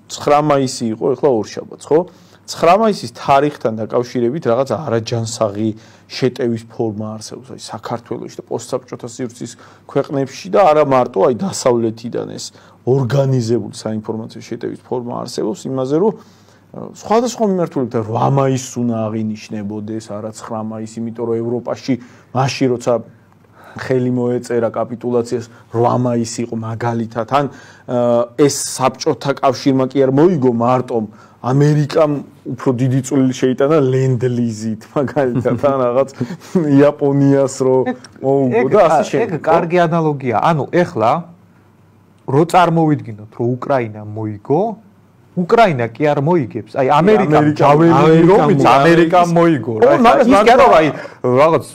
9 მაისი იყო, ეხლა ორშაბათს, ხო? 9 მაისის თარიღთან დაკავშირებით რაღაც არაჯანსაღი შეტევის ფორმა არსებობს, აი საქართველოში და პოსტსაბჭოთა სივრცის ქვეყნებში და არა მარტო აი დასავლეთიდან ეს ორგანიზებული საინფორმაციო შეტევის ფორმა არსებობს იმაზე, რომ სხვადასხვა მიმართულებითაც 8 მაისს უნდა აღინიშნებოდეს, არა 9 მაისი, იმიტომ რომ ევროპაში მაშინ როცა ხელი მოეწერა კაპიტულაციას 8 მაისი იყო მაგალითად, ან ეს საბჭოთა კავშირმა კი არ მოიგო მარტომ ამერიკამ უფრო დიდი წვლილი შეიტანა ლენდლიზით, მაგალითად, ან რაღაც იაპონიას რო მოუგო და ასე შემდეგ. ეგ კარგი ანალოგია. ანუ ეხლა რო წარმოვიდგინოთ, რომ უკრაინა მოიგო, უკრაინა კი არ მოიგებს. აი ამერიკამ ჯაველი რომიც ამერიკამ მოიგო რა. ის კი არა აი რაღაც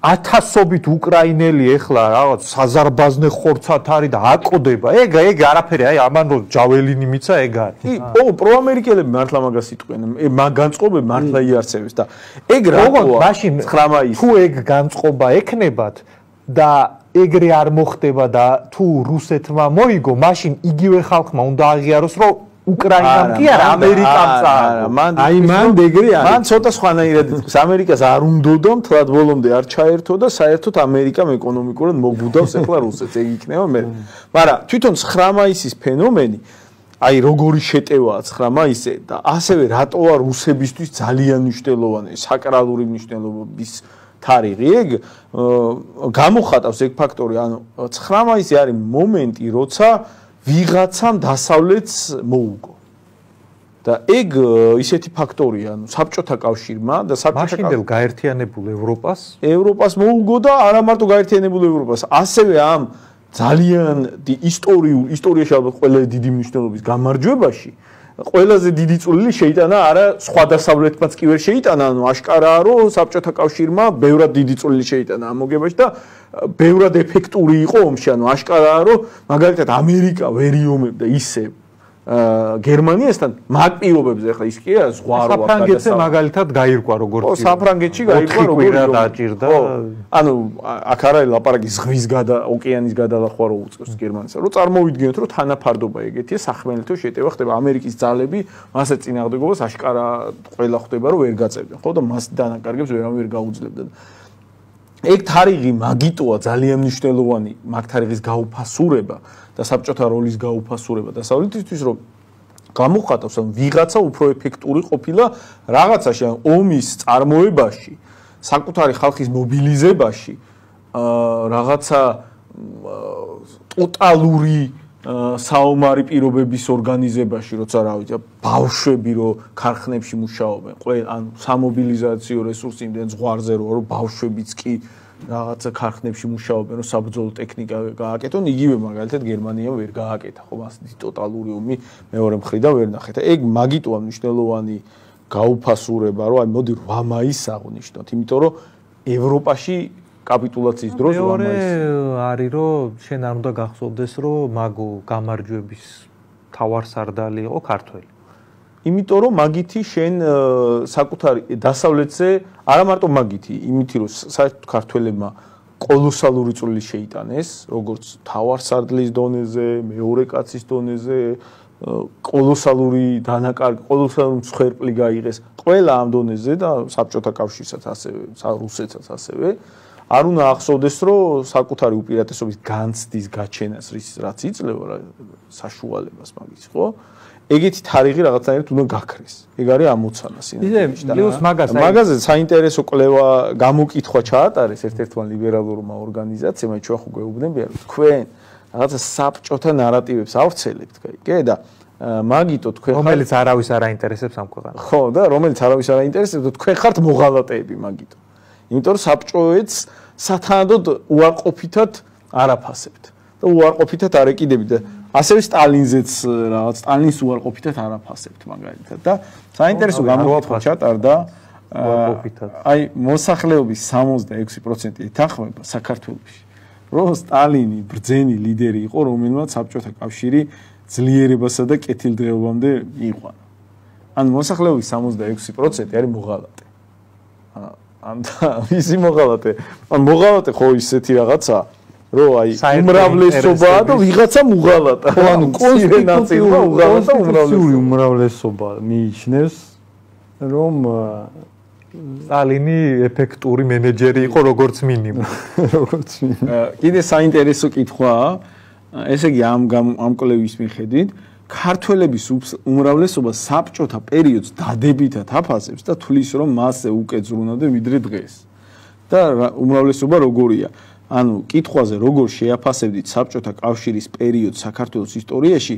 ათასობით უკრაინელი ეხლა რაღაც საზარბაზნე ხორცად არის და აკოდება. ეგ არაფერი აი ამან რო ჯაველინი მიცა ეგ არის. ო პროამერიკელები მართლა მაგას იტყვიან. მაგ განწყობები მართლა იარსებებს და ეგ რატოა მაშინ 9 მაისი თუ ეგ განწყობა ექნებათ და ეგრე არ მოხდება და თუ რუსეთმა მოიგო, მაშინ იგივე ხალხმა უნდა აღიაროს რომ უკრაინამ კი არა ამერიკამ წააგო. აი მან ეგრე არის. მან ცოტა სხვანაირად იტყვის. ამერიკას არ უნდოდა მთლად ბოლომდე არ ჩაერთო და საერთოდ ამერიკამ ეკონომიკურად მოგვუდავს ეხლა რუსეთს. ეგ იქნება მე. მაგრამ თვითონ 9 მაისის ფენომენი აი როგორი შეტევაა 9 მაისზე და ასევე რატოა რუსებისთვის ძალიან მნიშვნელოვანი საკრალური მნიშვნელობის თარიღი. ეგ გამოხატავს ეგ ფაქტორი, ანუ 9 მაისი არის მომენტი, როცა ვიღაცამ დასავლეთს მოუგო. და ეგ ისეთი ფაქტორია, ანუ საბჭოთა კავშირმა და მაშინდელ გაერთიანებულ ევროპას მოუგო და არა მარტო გაერთიანებულ ევროპას, ასევე ამ ძალიან ისტორიაში ალბათ ყველაზე დიდი მნიშვნელობის გამარჯვებაში ყველაზე დიდი წვლილი შეიტანა არა სხვა დასავლეთმაც კი ვერ შეიტანა, ანუ აშკარაა რომ საბჭოთა კავშირმა ბევრად დიდი წვლილი შეიტანა ამ მოგებაში და ბევრად ეფექტური იყო ომში, ანუ აშკარაა რომ მაგალითად ამერიკა ვერ იომებდა ისე გერმანიასთან მაგ პირობებზე, ახლა ის კი არა ზღვა რო საფრანგეთზე მაგალითად გაირკვა როგორც იყო. საფრანგეთში გაირკვა როგორ დაჭირდა. ანუ აქ არა ლაპარაკი ზღვის ოკეანის გადალახვა რო უწევს გერმანიას. რო წარმოვიდგინოთ რომ თანაფარდობა ეგეთია, სახმელეთო შეტევა ხდება, ამერიკის ძალები მასე წინააღმდეგობას აშკარა ყველა ხვდება რომ ვერ გაწევდნენ, ხო და მას დანაკარგებს ვერავინ ვერ გაუძლებდა. ეგ თარიღი მაგიტოა ძალიან მნიშვნელოვანი, მაგ თარიღის გაუფასურება და საბჭოთა როლის გაუფასურება დასავლეთისთვის, რომ გამოხატავს, რომ ვიღაცა უფრო ეფექტური ყოფილა რაღაცაში, ან ომის წარმოებაში, საკუთარი ხალხის მობილიზებაში, რაღაცა ტოტალური საომარი პირობების ორგანიზებაში, როცა რა ვიცი, ბავშვები რო ქარხნებში მუშაობენ, ან სამობილიზაციო რესურსი იმდენ ზღვარზე რომ ბავშვებიც კი რაღაცა ქარხნებში მუშაობენ, რომ საბრძოლო ტექნიკა გააკეთონ, იგივე მაგალითად გერმანიამ ვერ გააკეთა, ხო, მასეთი ტოტალური ომი მეორე მხრიდან ვერ ნახეთ. ეგ მაგიტოა მნიშვნელოვანი გაუფასურება, რომ აი მოდი 8 მაისს აღვნიშნოთ, იმიტომ რომ ევროპაში კაპიტულაციის დროს 8 მაისს არის რომ შენ არ უნდა გახსოვდეს რომ მაგო გამარჯვების თავარსარდალი იყო ქართველი. იმიტომ რომ მაგითი შენ საკუთარი დასავლეთზე არა მარტო მაგითი, იმითი რომ საერთოდ ქართველებმა კოლოსალური წვლილი შეიტანეს, როგორც თავარსარდლის დონეზე, მეორე კაცის დონეზე, კოლოსალური დანაკარგი, კოლოსალური მსხვერპლი გაიღეს ყველა ამ დონეზე და საბჭოთა კავშირსაც ასევე, რუსეთსაც ასევე. არ უნდა ახსოვდეს, რომ საკუთარი უპირატესობის განცდის გაჩენას რაც იძლევა საშუალებას მაგის, ხო? ეგეთი თარიღი რაღაცნაირად უნდა გაქრეს. ეგ არის ამოცანა სინამდვილეში. მაგაზე საინტერესო კვლევა გამოკითხვა ჩაატარეს ერთ-ერთმა ლიბერალურმა ორგანიზაციამ, ჩვენ ხო გვეუბნებიან, რომ თქვენ რაღაცა საბჭოთა ნარატივებს ავრცელებთ, კი და მაგიტო თქვენ რომელიც არავის არ აინტერესებს ამ ქვეყანას. ხო, და რომელიც არავის არ აინტერესებს, თქვენ ხართ მოღალატეები მაგიტო. იმიტომ რომ საბჭოეთს სათანადოდ უარყოფითად არაფასებთ და უარყოფითად არ ეკიდებით და ასევე სტალინზეც რაღაც სტალინის უარყოფითად არაფასებთ მაგალითად და საინტერესო გამოკითხვა ჩატარდა აი მოსახლეობის 66% ეთანხმება საქართველოში რომ სტალინი ბრძენი ლიდერი იყო რომელმაც საბჭოთა კავშირი ძლიერებასა და კეთილდღეობამდე იყვანა. ან მოსახლეობის 66% არის მოღალატე. ან ისი მოღალატე? ან მოღალატე ხო ისეთი რაღაცა რომ აი უმრავლესობაა და ვიღაცამ უღალატა. ანუ კონსტიტუციური უმრავლესობა მიიჩნევს რომ სტალინი ეფექტური მენეჯერი იყო როგორც მინიმუმ. კიდე საინტერესო კითხვაა. ესე იგი ამ კვლევის მიხედვით ქართველების უმრავლესობა საბჭოთა პერიოდს დადებითად აფასებს და თვლის რომ მასზე უკეთ ზრუნავდნენ ვიდრე დღეს. და უმრავლესობა როგორია? ანუ კითხვაზე როგორ შეაფასებდით საბჭოთა კავშირის პერიოდს საქართველოს ისტორიაში,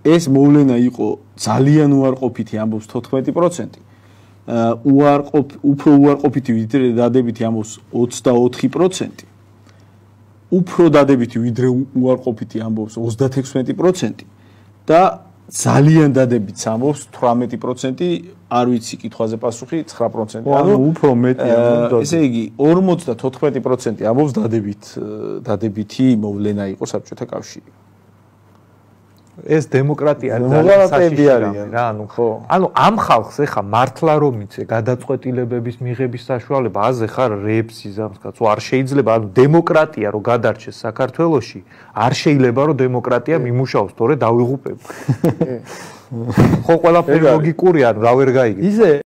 ეს მოვლენა იყო ძალიან უარყოფითი, ამბობს 14%. უფრო უარყოფითი ვიდრე დადებითი ამბობს 24%. უფრო დადებითი ვიდრე უარყოფითი ამბობს 36% და ძალიან დადებითი ამბობს 18%, არ ვიცი კითხვაზე პასუხი 9%. ანუ უფრო მეტი ამბობს. ესე იგი 54% ამბობს დადებითი მოვლენა იყო საბჭოთა კავშირი. ეს დემოკრატია არიან რა, ანუ ხო. ანუ ამ ხალხს ეხა მართლა რომ იცე გადაწყვეტილებების მიღების საშუალება, აზე ხარ რეებს იზამს კაცო, არ შეიძლება, ანუ დემოკრატია რო გადარჩეს საქართველოში, არ შეიძლება რომ დემოკრატია მიმუშაოს, თორე დავიღუპებ. ხო, ყველაფერი ლოგიკურია, ანუ რა ვერ გაიგე. ისე